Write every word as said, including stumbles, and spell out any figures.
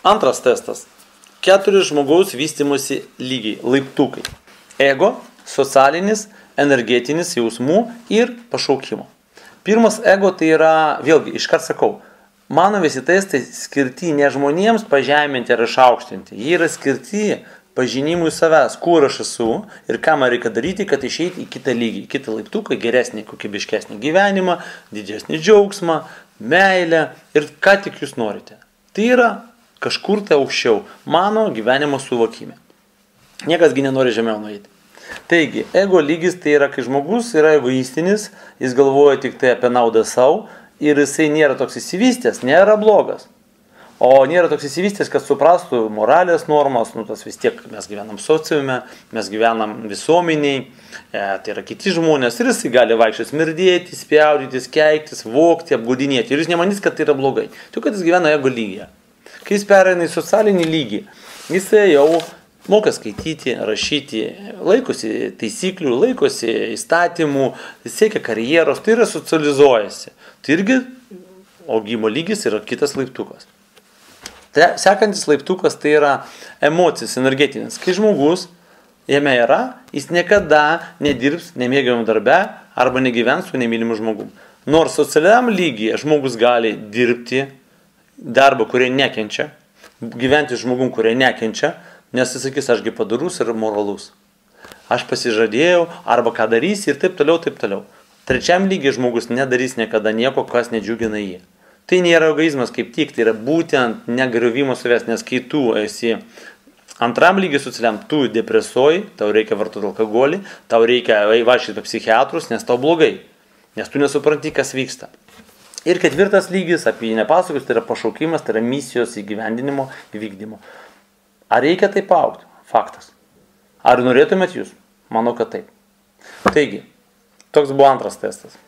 Antras testas. Keturi žmogaus vystymosi lygiai, laiptukai. Ego, socialinis, energetinis jausmų ir pašaukimo. Pirmas ego tai yra, vėlgi, iškart sakau, mano visi testai skirti ne žmonėms pažeminti ar išaukštinti. Jie yra skirti pažinimui savęs, kur aš esu ir ką man reikia daryti, kad išeiti į kitą lygį, į kitą laiptuką, geresnį, kokybiškesnį gyvenimą, didesnį džiaugsmą, meilę ir ką tik jūs norite. Tai yra kažkur tai aukščiau mano gyvenimo suvokime. Niekasgi nenori žemiau nueiti. Taigi, ego lygis tai yra, kai žmogus yra egoistinis, jis galvoja tik tai apie naudą savo ir jisai nėra toks įsivystęs, nėra blogas. O nėra toks įsivystęs, kad suprastų moralės normas, nu tas vis tiek mes gyvenam sociume, mes gyvenam visuomeniai, e, tai yra kiti žmonės ir jisai gali vaikščioti smirdėti, spjaudytis, keiktis, vogti, apgaudinėti ir jis nemanys, kad tai yra blogai. Tik kad jis gyvena ego lygyje. Kai jis pereina į socialinį lygį, jisai jau moka skaityti, rašyti, laikosi taisyklių, laikosi įstatymų, siekia karjeros, tai yra socializuojasi. Tai irgi augimo lygis yra kitas laiptukas. Sekantis laiptukas tai yra emocinis, energetinis. Kai žmogus jame yra, jis niekada nedirbs nemėgiamam darbe arba negyvens su nemylimu žmogum. Nors socialiam lygyje žmogus gali dirbti darbą, kurie nekenčia, gyventi žmogum, kurie nekenčia, nes jis sakys, ašgi padarus ir moralus. Aš pasižadėjau, arba ką darys ir taip toliau, taip toliau. Trečiam lygiai žmogus nedarys niekada nieko, kas nedžiugina jį. Tai nėra egoizmas kaip tik, tai yra būtent negriuvimo savęs, nes kai tu esi antram lygiai socialiam, tu depresuoji, tau reikia vartoti alkoholį, tau reikia vaikščioti pas psichiatrus, nes tau blogai, nes tu nesupranti, kas vyksta. Ir ketvirtas lygis, apie jį nepasakos, tai yra pašaukimas, tai yra misijos įgyvendinimo, įvykdymo. Ar reikia taip augti? Faktas. Ar norėtumėt jūs? Manau, kad taip. Taigi, toks buvo antras testas.